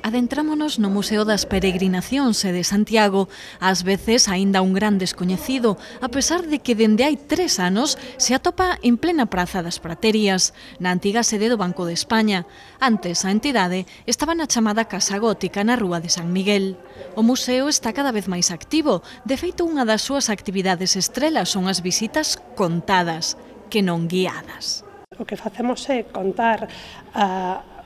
Adentrámonos no Museo das Peregrinacións de Santiago, ás veces aínda un gran descoñecido, a pesar de que dende hai 3 anos se atopa en plena Praza das Praterías, na antiga sede do Banco de España. Antes, a entidade estaba na chamada Casa Gótica na Rúa de San Miguel. O museo está cada vez máis activo, de feito unha das súas actividades estrelas son as visitas contadas, que non guiadas. O que facemos é contar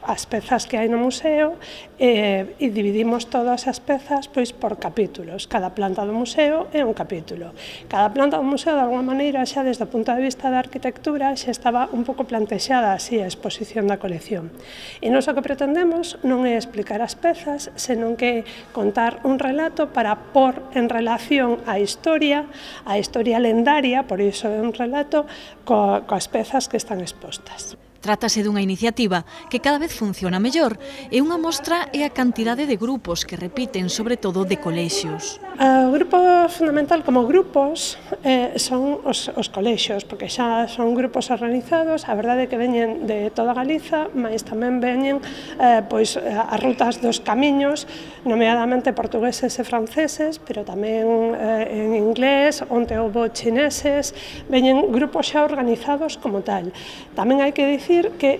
as pezas que hai no museo e dividimos todas as pezas pois por capítulos. Cada planta do museo é un capítulo. Cada planta do museo, de alguma maneira, xa desde o punto de vista da arquitectura, xa estaba un pouco plantexada así a exposición da colección. E nós o que pretendemos non é explicar as pezas, senón que contar un relato para pôr en relación a historia lendaria, por iso é un relato, coas pezas que están expostas. Trátase dunha iniciativa que cada vez funciona mellor e unha mostra é a cantidade de grupos que repiten, sobre todo de colexios. O grupo fundamental como grupos son os colexios, porque xa son grupos organizados, a verdade é que veñen de toda Galiza, mas tamén veñen pois as rutas dos camiños, nomeadamente portugueses e franceses, pero tamén en inglés, onte houbo chineses, veñen grupos xa organizados como tal. Tamén hai que dicir que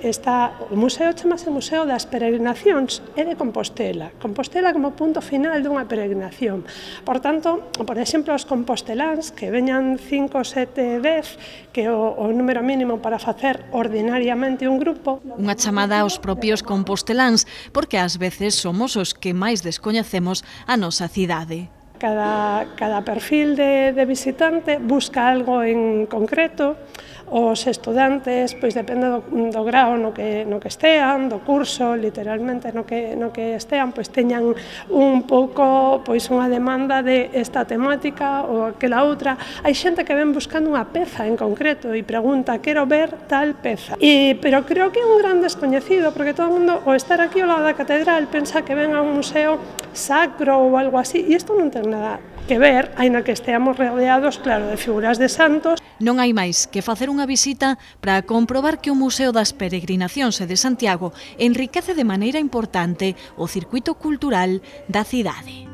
o museo chamase Museo das Peregrinacións e de Compostela. Compostela como punto final dunha peregrinación. Por tanto, por exemplo, os composteláns que veñan 5, 7, 10, que é o número mínimo para facer ordinariamente un grupo. Unha chamada aos propios composteláns, porque ás veces somos os que máis descoñecemos a nosa cidade. Cada perfil de visitante busca algo en concreto. Os estudantes, pois depende do grao no que estean, do curso, literalmente no que estean, pois teñan un pouco pois unha demanda de esta temática ou aquela outra. Hai xente que ven buscando unha peza en concreto e pregunta, quero ver tal peza. Pero creo que é un gran descoñecido, porque todo o mundo, ao estar aquí ao lado da catedral, pensa que ven a un museo sacro ou algo así, e isto non ten nada que ver, aínda que esteamos rodeados, claro, de figuras de santos. Non hai máis que facer unha visita para comprobar que o Museo das Peregrinacións de Santiago enriquece de maneira importante o circuito cultural da cidade.